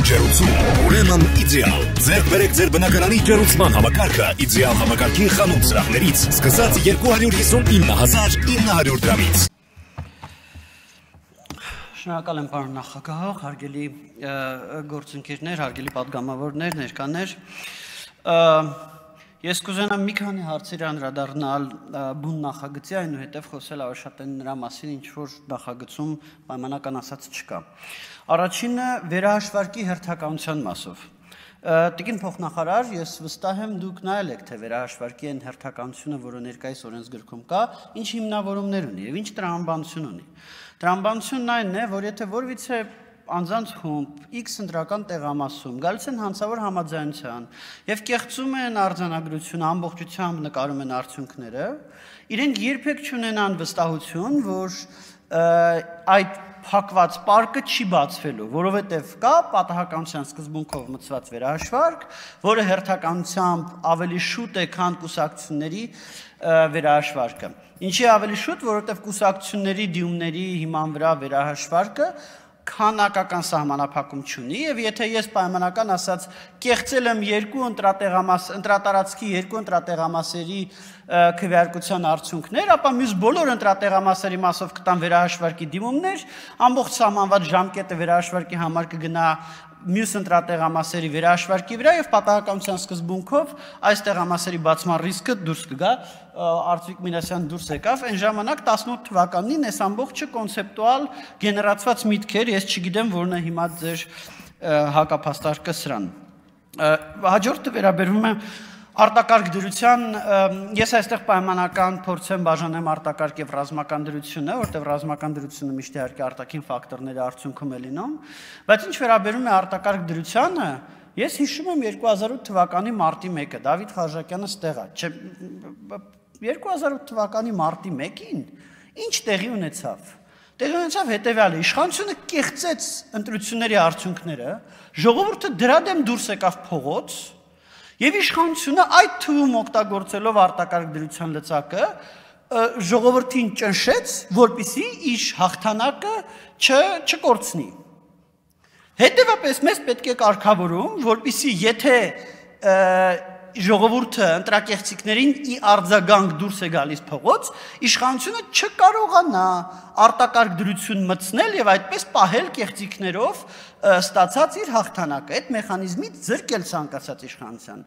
ջերուցում, ուրեմն իդեալ։ Ձեր բերեք ձեր բնակարանի ջերուցման համակարգը իդեալ համակարգի խանութ սրահներից սկսած 259,900 դրամից։ Շնորհակալ եմ պարոն նախագահ, հարգելի գործընկերներ, հարգելի պատգամավորներ, ներկաներ։ Ես կուզենամ մի քանի հարցերի անդրադառնալ բուն նախագծի, այնուհետև խոսել ավելի նրա մասին, ինչ որ նախագծում պայմանական ասած չկա։ Առաջինը վերահաշվարկի հերթականության մասով։ Տիկին փոխնախարար, ես վստահ եմ դուք նայել եք, թե վերահաշվարկի այն հերթականությունը, որը ներկայիս օրենսգրքում կա, ինչ հիմնավորումներ ունի եւ ինչ տրամաբանություն ունի։ Տրամաբանությունն այն է, որ եթե որևիցե անձանց խումբ X ընտրական տեղամասում գալիս են հանցավոր համաձայնության եւ կեղծում են արձանագրությունը, ամբողջությամբ նկարում են արդյունքները, իրենք երբեք չունենան վստահություն, որ այդ փակված պարկը չի բացվելու, որովհետև կա պատահականության սկզբունքով մտցված վերահաշվարկ, որը հերթականությամբ ավելի շուտ է, քան կուսակցությունների վերահաշվարկը։ Ինչի ավելի շուտ, որովհետև կուսակցությունների դիումների հիման վրա վերահաշվարկը քանակական սահմանափակում չունի, եւ եթե ես պայմանական ասած կեղծել եմ ընտրատարածքի երկու ընտրատեղամասերի քվեարկության արդյունքներ, ապա մյուս բոլոր ընտրատեղամասերի մասով կտան վերահաշվարկի դիմումներ, ամբողջ սահմանված ժամկետը վերահաշվարկի համար կգնա մյուս ընտրատեղամասերի վերահաշվարկի վրա եւ պատահականության սկզբունքով այս տեղամասերի բացման ռիսկը դուրս կգա, Արծվիկ Մինասյան դուրս եկավ, այն ժամանակ 18 թվականին այս ամբողջը կոնցեպտուալ գեներացված միտքեր, ես չգիտեմ որն է հիմա ձեր հակափաստարկը սրան։ Հաջորդը վերաբերում է արտակարգ դրության, ես այստեղ պայմանական փորձեմ բաժանեմ արտակարգ եւ ռազմական դրությունը, որտեղ ռազմական դրությունը միշտ իհարկե արտաքին ֆակտորների արդյունքում է լինում, բայց ինչ վերաբերում է արտակարգ դրությանը, ես հիշում եմ 2008 թվականի մարտի 1-ը, Դավիթ Խաչատյանը ստեղ է, 2008 թվականի մարտի 1-ին ինչ տեղի ունեցավ։ Տեղի ունեցավ հետևյալը, իշխանությունը կեղծեց ընտրությունների արդյունքները, ժողովուրդը դրա դեմ դուրս եկավ փողոց, եւ իշխանությունը այդ թվում օգտագործելով արտակարգ դրության լծակը ժողովրդին ճնշեց, որպեսզի իր հաղթանակը չկորցնի։ Հետևաբար մեզ պետք է կարգավորում, որպեսզի եթե ժողովուրդը ընտրակեղծիքներին ի արձագանք դուրս է գալիս փողոց, իշխանությունը չկարողանա արտակարգ դրություն մտցնել եւ այդպես պահել կեղծիքներով ստացած իր հաղթանակը, այդ մեխանիզմից զրկել ցանկացած իշխանության։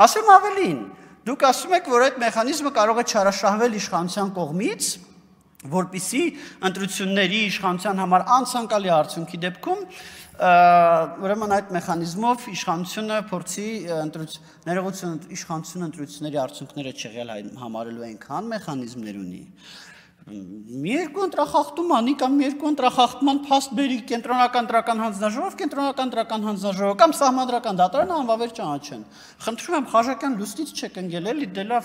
Ասեմ ավելին, դուք ասում եք, որ այդ մեխանիզմը կարող է չարաշահվել իշխանության կողմից, որպեսզի ընտրությունների իշխանության համար անցանկալի արդյունքի դեպքում ուրեմն այդ մեխանիզմով իշխանությունը փորձի իշխանությունը ընտրությունների արդյունքները չեղյալ համարելու այնքան մեխանիզմներ ունի։ Մի երկու ընտրախախտում անի կամ երկու ընտրախախտման փաստ բերի կենտրոնական ընտրական հանձնաժողով կամ սահմանադրական դատարանը անվավեր ճանաչեն։ Խնդրում եմ Խաչատյան լույսից չեք ընկել, էլի դե լավ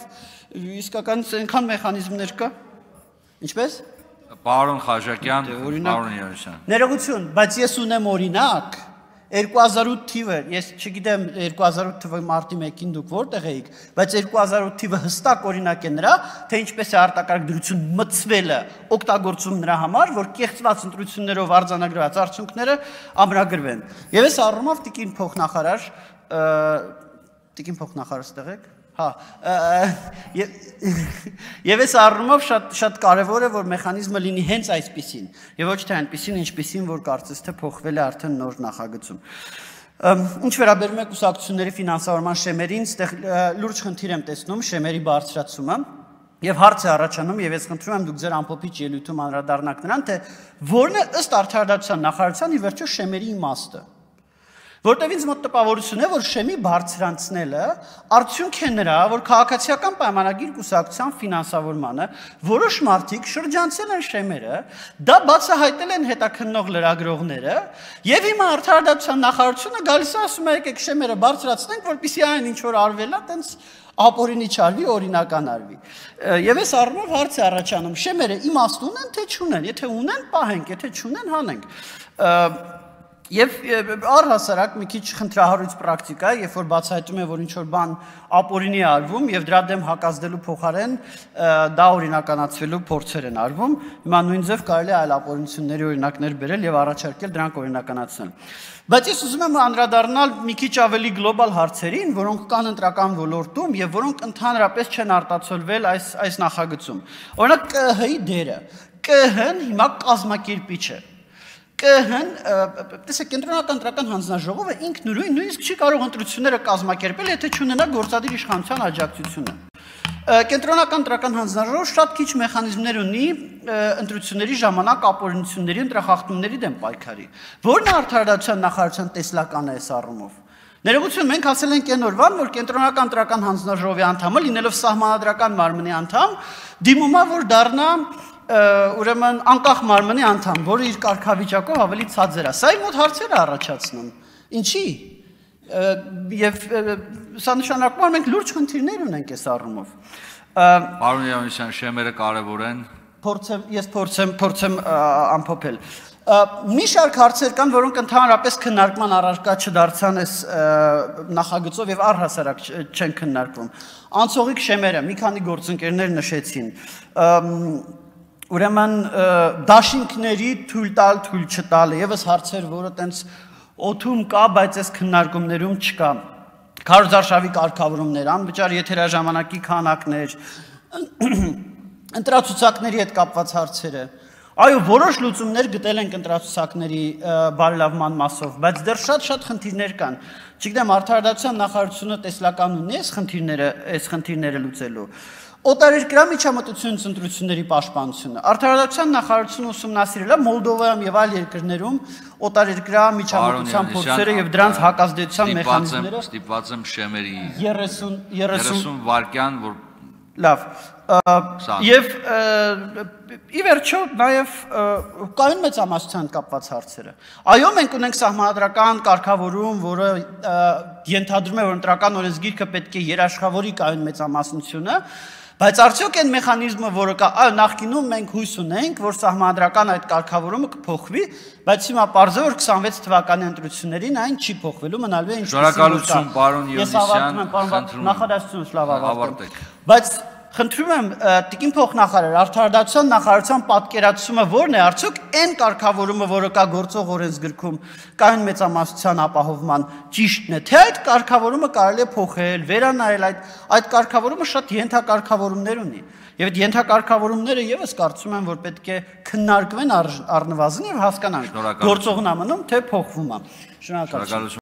իսկական այնքան մեխանիզմներ կա։ Ինչպես։ Պարոն Խաչատյան, պարոն Եղիշյան։ Ներողություն, բայց ես ունեմ օրինակ 2008 թիվը, ես չգիտեմ 2008 թվի մարտի 1-ին դուք որտեղ էիք, բայց 2008 թիվը հստակ օրինակ է նրա, թե ինչպես է արտակարգ դրություն մտցվելը օգտագործում նրա համար, որ կեղծված ընտրություններով արձանագրված արդյունքները ամրագրվեն։ Եվ այս առումով տիկին փոխնախարար ստեղ եք։ Եվ այս առումով շատ կարևոր է, որ մեխանիզմը լինի հենց այսպիսին, եւ ոչ թե այնպիսին, ինչպիսին, որ կարծես թե փոխվել է արդեն նոր նախագծում։ Ինչ վերաբերում է կուսակցությունների ֆինանսավորման շեմերին, այստեղ լուրջ խնդիր եմ տեսնում շեմերի բարձրացումը, եւ հարց է առաջանում, եւ ես խնդրում եմ դուք ձեր ամփոփիչ ելույթում անդրադառնաք նրան, թե որն է ըստ Արդարադատության նախարարության ի վերջո շեմերի իմաստը։ Որտեւ ինձ մոտ տպավորություն է, որ շեմի բարձրանցնելը արդյունք է նրա, որ քաղաքացիական պայմանագիր կուսակցության ֆինանսավորմանը որոշ մարդիկ շրջանցել են շեմերը, դա բացահայտել են հետաքննող լրագրողները, եւ հիմա Արդարադատության նախարարությունը գալիս է ասում է եկեք շեմերը բարձրացնենք, որպեսզի այն ինչ որ արվել է, տենց ապօրինի չարվի, օրինական արվի։ Եվ այս առումով հարց է առաջանում, շեմերը իմաստ ունեն, թե չունեն, եթե ունեն, պահենք, եթե չունեն, հանենք։ Եվ առհասարակ մի քիչ խնդրահարույց պրակտիկա է, երբ որ բացահայտում է, որ ինչ-որ բան ապօրինի է արվում եւ դրա դեմ հակազդելու փոխարեն դա օրինականացվելու փորձեր են արվում, հիմա նույն ձև կարելի է այլ ապօրինությունների օրինակներ բերել եւ առաջարկել դրանք օրինականացնել։ Բայց ես ուզում եմ անդրադառնալ մի քիչ ավելի գլոբալ հարցերին, որոնք կան ընտրական ոլորտում եւ որոնք ընդհանրապես չեն արտացոլվել այս նախագծում։ Օրինակ ԿՀ-ի դերը։ ԿՀ-ն հիմա կազմակերպիչ է։ ԿՀ-ն, տեսեք, կենտրոնական ընտրական հանձնաժողովը ինքնուրույն նույնիսկ չի կարող ընտրությունները կազմակերպել, եթե չունենա գործադիր իշխանության աջակցությունը։ Կենտրոնական ընտրական հանձնաժողովը շատ քիչ մեխանիզմներ ունի ընտրությունների ժամանակ ապօրինությունների, ընտրախախտումների դեմ պայքարի։ Որն է արդարադատության նախարարության տեսլականը այս առումով։ Ներողություն, մենք ասել ենք այն օրվան, որ կենտրոնական ընտրական հանձնաժողովի անդամը, լինելով սահմանադրական մարմնի անդամ, դիմում է, որ դառնա ուրեմն անկախ մարմնի անդամ, որը իր կարգավիճակով ավելի ցածր է։ Սա մոտ հարցեր է առաջացնում։ Ինչի՞։ Եվ սա նշանակում է, մենք լուրջ խնդիրներ ունենք այս առումով։ Պարոն Եղաննիսյան, շեմերը կարևոր են։ Ես փորձեմ ամփոփել։ Մի շարք հարցեր կան, որոնք ընդհանրապես քննարկման առարկա չդարձան այս նախագծով եւ առհասարակ չեն քննարկվում։ Անցողիկ շեմերը, մի քանի գործընկերներ նշեցին։ Ուրեմն դաշինքների թույլ տալ, թույլ չտալը եւս հարցեր, որը տենց օթում կա, բայց այս քննարկումներում չկա։ Քարոզարշավի կարգավորումներ, անվճար եթերաժամանակի քանակներ, ընտրացուցակների հետ կապված հարցերը։ Այո, որոշ լուծումներ գտել ենք ընտրացուցակների բարելավման մասով, բայց դեռ շատ խնդիրներ կան։ Չգիտեմ, արդարադատության նախարարությունը տեսլական ունի այս խնդիրները լուծելու։ Օտարերկրյա միջամտություն ընտրությունների պաշտպանությունը։ Արդարադատության նախարարությունը ուսումնասիրել է Մոլդովայում եւ այլ երկրներում օտարերկրյա միջամտության փորձերը եւ դրանց հակազդեցության մեխանիզմները։ Ստիպված եմ շեմերի 30 վայրկյան, որ լավ։ Եվ ի վերջո նաև կայուն մեծամասնության կապված հարցերը։ Այո, մենք ունենք սահմանադրական կարգավորում, որը ենթադրում է, որ ընտրական օրենսգիրքը պետք է երաշխավորի կայուն մեծամասնությունը, բայց արդյոք այն մեխանիզմը, որը կա, այո, նախկինում մենք հույս ունենք, որ սահմանադրական այդ կարգավորումը կփոխվի, բայց հիմա պարզ է, որ 26 թվականի ընտրություններին այն չի փոխվելու, մնալու է ինչպես է։ Շնորհակալություն, պարոն Եղաննիսյան, ես ավարտում եմ, պարոն նախադասությունը լավ ավարտեք։ Բայց խնդրում եմ տիկին փոխնախարար, արդարադատության նախարարության պատկերացումը ո՞րն է, արդյոք այն կարգավորումը, որը կա գործող օրենսգրքում կայուն մեծամասնության ապահովման ճիշտն է, թե այդ կարգավորումը կարելի է փոխել, վերանայել, այդ կարգավորումը շատ ենթակարգավորումներ ունի։ Եվ այդ ենթակարգավորումները եւս կարծում եմ, որ պետք է քննարկվեն առնվազն եւ հասկանանք գործողն է մնում, թե փոխվում է։ Շնորհակալություն։